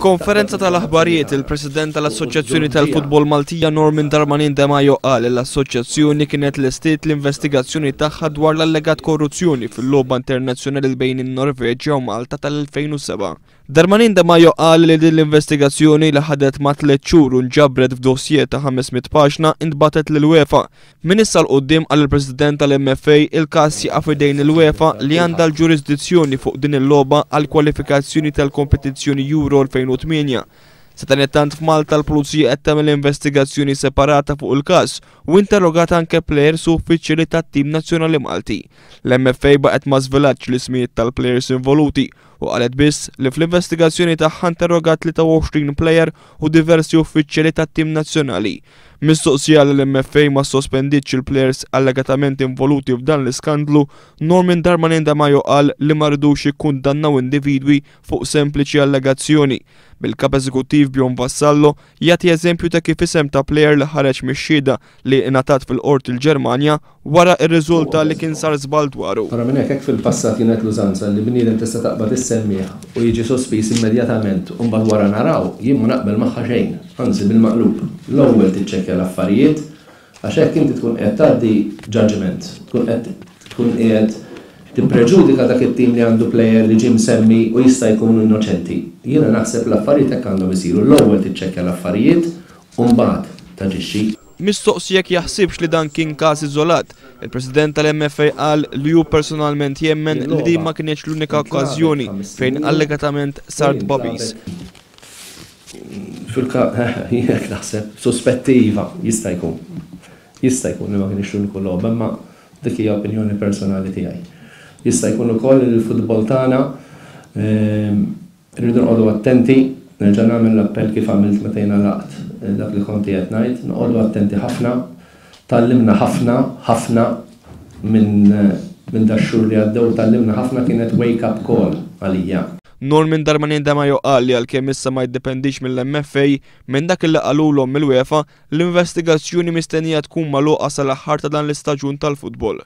F'konferenza tal-aħbarijiet, il-President tal-Assoċjazzjoni tal-Futbol Maltija Norman Darmanin Demajo qal li l-assoċjazzjoni kienet lestiet l-investigazzjoni tagħha dwar l-allegat korruzzjoni fil-logħba internazzjonali bejn in-Norveġja u Malta tal-2007. Darmanin Demajo qal li din l-investigazzjoni li ħadet ma' tliet xhur u nġabret f'dossier ta' 500 paġna intbagħtet lill-UEFA. Minn issa 'l quddiem, qal il-President tal-MFA, il-każ jaqa' f'idejn il-UEFA li għandha l-ġurisdizzjoni fuq din il-logħba għall-kwalifikazzjoni tal-kompetizzjoni Euro 2008. Sadanittant f'Malta l-Pulizija qed tagħmel investigazzjoni separata fuq il-każ u interrogat anke plejers u uffiċjali tat-tim nazzjonali Malti. L-MFA baqgħet ma żvelatx l-ismijiet tal-plejers involuti u qalet biss li fl-investigazzjoni tagħha interrogat 23 plejer u diversi uffiċjali tat-tim nazzjonali. Mistoqsija li l-MFA ma sospendietx il-plejers allegatament involuti f'dan l-iskandlu, Norman Darmanin Demajo qal li ma ridux jikkundannaw individwi fuq sempliċi allegazzjoni, bil-Kap Eżekuttiv Bjorn Vassallo jagħti eżempju ta' kif isem ta' plejer li ħareġ mix-xhieda li ingħatat fil-Qorti l-Ġermanja wara rriżulta li kien sar żball dwaru. Barra minn hekk, hekk fil-passat kienet l-użanza li bniedem tista' taqbad issemmih u jiġi sospiż immedjatament u mbagħad wara naraw, jien ma naqbel magħha xejn, anzi bil-maqlub. L-ewwel tiċċekkja l-affarijiet għax hekk inti tkun qiegħed tgħaddi judgement, tkun qed tkun qiegħed tippreġudika dak it-tim li għandu plejer li ġie msemmi u jista' jkun innoċenti. Jiena naħseb l-affarijiet hekk għandhom isiru, l-ewwel tiċċekkja l-affarijiet u mbagħad taġixxi. Mistoqsi jekk jaħsibx li dan kien każ iżolat, il-President tal-MFA qal li hu personalment jemmen li din ma kinitx l-unika okkażjoni fejn allegatament sar tbagħbis. Fil-każ, jien hekk naħseb, suspetti iva, jista' jkun. Jista' jkun li ma kinitx l-uniku logħba, imma dik hija opinjoni personali tiegħi. Jista' jkun ukoll li l-futbol tagħna Irridu noqogħdu attenti, nerġa' nagħmel l-appell kif għamilt meta jien għalaqt dak li kont qiegħed ngħid, noqogħdu attenti ħafna, tgħallimna ħafna, ħafna minn minn dax-xhur li għaddew tgħallimna ħafna kienet wake up call għalija. Norman Darmanin Demajo qal li għalkemm issa ma jiddependix mill-MFA, minn dak li qalulhom mill-UEFA, l-investigazzjoni mistennija tkun magħluqa sal-aħħar ta' dan l-istaġun tal-futbol.